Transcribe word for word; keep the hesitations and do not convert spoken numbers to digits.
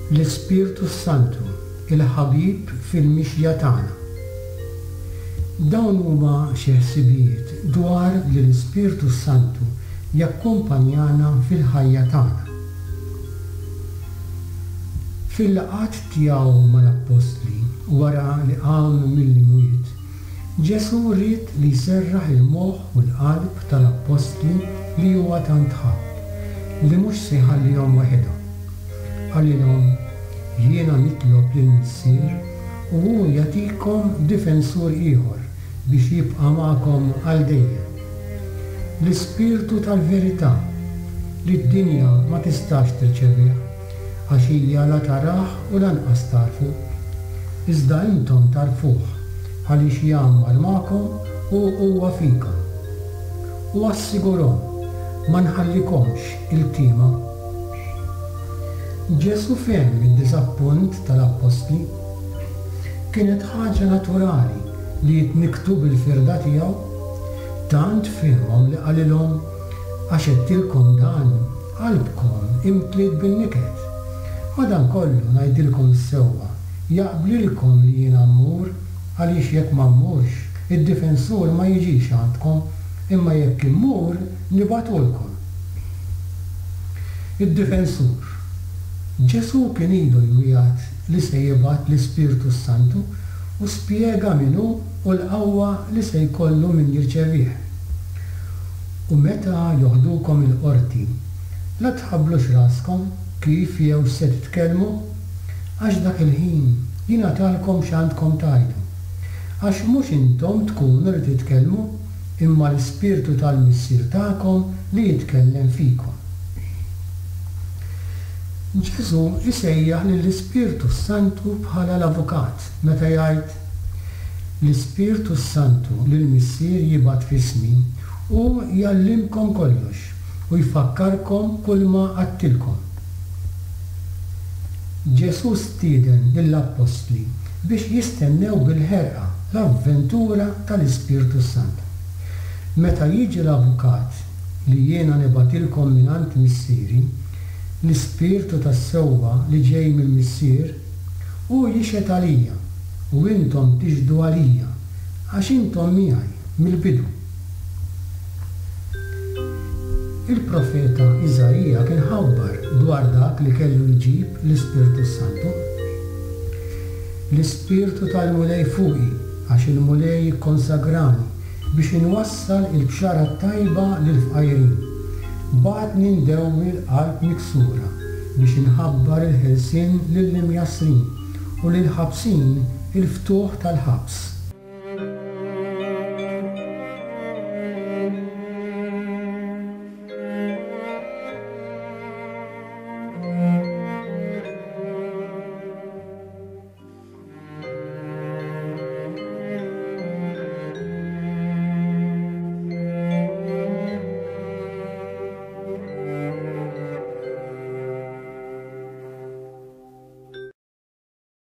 L-Ispirtu s-Santu, il-ħabib fil-mixja tagħna. Dawn huma xi ħsibijiet dwar li l-Ispirtu s-Santu jakkumpanjana fil-ħajja tagħna. Fil-laqgħat tiegħu mal-Appostli wara li qam mill-imwiet, Ġesù ried li jserraħ il-moħħ u l-qalb tal-Appostli li huwa tant ħabb, li mhux se jħallihom waħedhom. Qalilhom, Jiena nitlob lill-Missier u hu jagħtikom difensur ieħor biex jibqa' magħkom għal dejjem. L-Ispirtu tal-verità, li d-dinja ma tistax tirċevih, għax hija la tarah u lanqas tagħrfu. Iżda intom tagħrfuh, għaliex jgħammar magħkom u huwa fikom. U assigurhom, Ma nħallikomx iltiema. Ġesù fehem id-diżappunt tal-appostli. Kienet ħaġa naturali li jitnikktu bil-firda tiegħu. Tant fehemhom li qalilhom, Għax għedtilkom dan, qalbkom imtliet bin-niket. Madankollu ngħidilkom is-sewwa, jaqblilkom li jiena mmur, għaliex jekk ma mmurx, id-difensur ma jiġix għandkom, imma jekk immur, nibagħtulkom. Id-difensur. Ġesù kien ilu jwiegħed li se jibgħat l-Ispirtu s-Santu u spjega min hu u l-qawwa li se jkollu min jirċevih. U meta joħdukom il-qorti, la tħabblux raskom kif jew x'se titkellmu, għax dak il-ħin jingħatalkom x'għandkom tgħidu. Għax mhux intom tkunu li titkellmu, imma l-Ispirtu tal-Missier tagħkom li jitkellem fikom. Ġesù jsejjaħ lill-Ispirtu s-Santu bħala l-Avukat meta jgħid, L-Ispirtu s-Santu li l-Missier jibgħat f'ismi, hu jgħallimkom kollox u jfakkarkom kulma għedtilkom. Ġesù stieden lill-appostli biex jistennew bil-ħerqa l-avventura tal-Ispirtu s-Santu. Meta jiġi l-Avukat li jiena nibgħatilkom mingħand Missieri, l-Ispirtu tas-sewwa li ġej mill-Missier, hu jixhed għalija, u intom tixhdu għalija, għax intom miegħi mill-bidu. Il-profeta Iżaija kien ħabbar dwar dak li kellu jġib l-Ispirtu s-Santu. L-Ispirtu tal-Mulej fuqi, għax il-Mulej ikkonsagrani biex inwassal il-bxara t-tajba lill-fqajrin. Bagħatni ndewwi l-qalb miksura, biex inħabbar il-ħelsien lill-imjassrin, u lill-ħabsin il-ftuħ tal-ħabs.